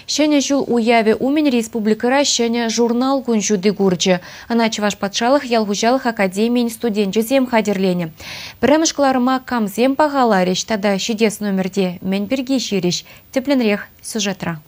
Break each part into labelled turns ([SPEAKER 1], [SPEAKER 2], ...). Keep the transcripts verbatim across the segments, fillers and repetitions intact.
[SPEAKER 1] Ҫӗнӗ ҫул уявӗ умӗн республикӑра ҫӗнӗ журнал кун ҫути курчӗ. Ӑна Чӑваш патшалӑх ял хуҫалӑх академийӗн студенчӗсем хатӗрленӗ. Пӗрремӗш кӑларӑма камсем пахаларӗҫ тата ҫитес номерте мӗн пирки ҫырӗҫ. Тӗплӗнрех сюжетра.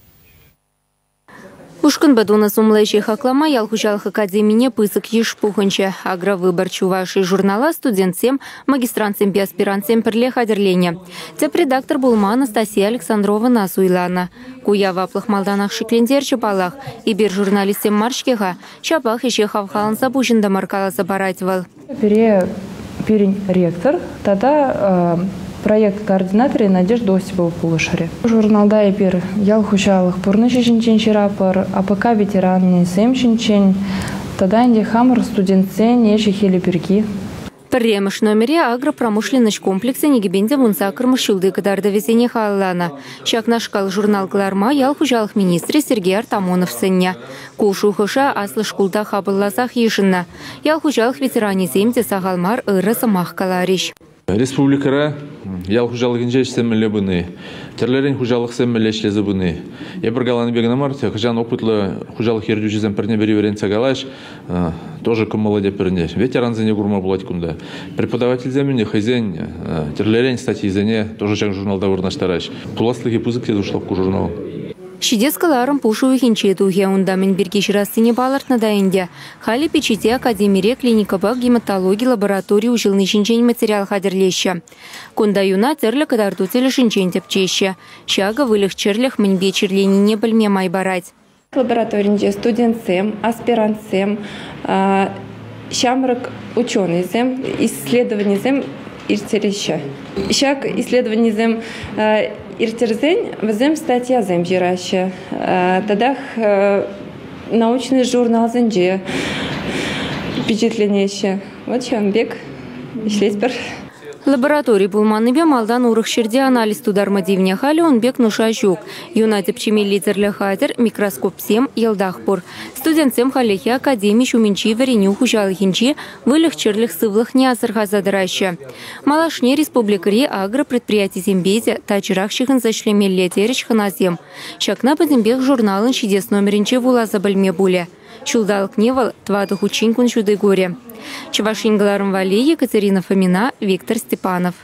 [SPEAKER 2] Ушкӑнпа тунӑ сумлӑ ӗҫе хаклама ял хуҫалӑх академине пысӑк йыш пухӑнчӗ. «Агровыбор Чувашии» журнала студентсем, магистрантсемпе аспирантсем пӗрле хатӗрленӗ. Тӗп редактор пулма Анастасия Александровӑна суйланӑ. Ку яваплӑх малтанах шиклентерчӗ паллах. Эпир журналистсем мар-ҫке-ха. Ҫапах ӗҫе хавхаланса пуҫӑнтӑмӑр, каласа парать вӑл.
[SPEAKER 3] Пире пирӗн ректор тата проект координаторӗ Надежда Осипова пулӑшрӗ. Журналта эпир ял хуҫалӑх пурнӑҫӗ ҫинчен ҫыратпӑр, А П К ветеранӗсем ҫинчен тата ӗнтӗ хамӑр студентсен ӗҫӗ-хӗлӗ пирки.
[SPEAKER 2] Пӗрремӗш номере агропромышленноҫ комплексӗн икӗ пин те вун саккӑрмӗш ҫулти кӑтартӑвӗсене халалланӑ. Ҫакнашкал журнал кӑларма ял хуҫалӑх министрӗ Сергей Артамонов сӗннӗ. Ку шухӑша аслӑ шкулта хапӑлласах йышӑннӑ. Ял хуҫалӑх ветеранӗсем те сахал мар ырӑ сӑмах каларӗҫ.
[SPEAKER 4] Республикӑра ял хуҫалӑхӗнче ӗҫсем мӗнле пыни, тӗрлӗрен хуҫалӑхсем мӗнле ӗҫлесе пыни. Эпир каланӑ пек кӑна мар, хӑҫан опытлӑ хуҫалӑх ертӳҫисем пӗрне-пӗри вӗрентсе калаҫ, тоже кӑмӑллӑ те пӗрне. Ветерансене курма пулать кунта. Преподавательсем ӗнтӗ хӑйсен тӗрлӗрен статьисене тоже ҫак журналта вырнаҫтараҫ. Пуласлӑхӗ пысӑк тесе шутлап ку журнал.
[SPEAKER 2] Ҫитес кӑларӑм пуш уйӑхӗнче тухӗ. Унта мӗн пирки ҫырассине палӑртнӑ та ӗнтӗ. Халӗ пичете академире клиникӑпа гематологи лаборатори уҫӑлни ҫинчен материал хатӗрлеҫҫӗ. Кунта юна тӗрлӗ кӑтарту тӗлӗшӗнчен тӗпчеҫҫӗ. Ҫакӑ выльӑх-чӗрлӗх мӗнпе чирленине пӗлме май парать.
[SPEAKER 5] Лабораторинче студентсем, аспирантсем, ҫамрӑк ученӑйсем, исследованисем ирттереҫҫӗ. Ҫак исследованисем ирттерсен вӗсем статьясем ҫыраҫҫӗ. Татах научный журналсенче пичетленеҫҫӗ. Вот ҫавӑн пек ӗҫлетпӗр.
[SPEAKER 2] Лаборатори пулманнипе малтан урӑх ҫӗрте анализ тутарма тивнӗ. Халӗ ун пек нуша ҫук. Юна тӗпчемелли тӗрлӗ хатӗр, микроскопсем йӑлтах пур. Студентсем хальлӗхе академи ҫумӗнчи вӗренӳ хуҫалӑхӗнчи выльӑх-чӗрлӗх сывлӑхне асӑрхаса тӑраҫҫӗ. Малашне республикӑри агропредприятисемпе те тачӑрах ҫыхӑнса ӗҫлемелле терӗҫ хӑнасем. Ҫакна пӗтӗмпех журналӑн ҫитес номерӗнче вуласа пӗлме пулӗ. Ҫулталӑкне вӑл тӑватӑ хутчен кун ҫути курӗ. Чӑваш Ен кӑларӑм валли Екатерина Фомина, Виктор Степанов.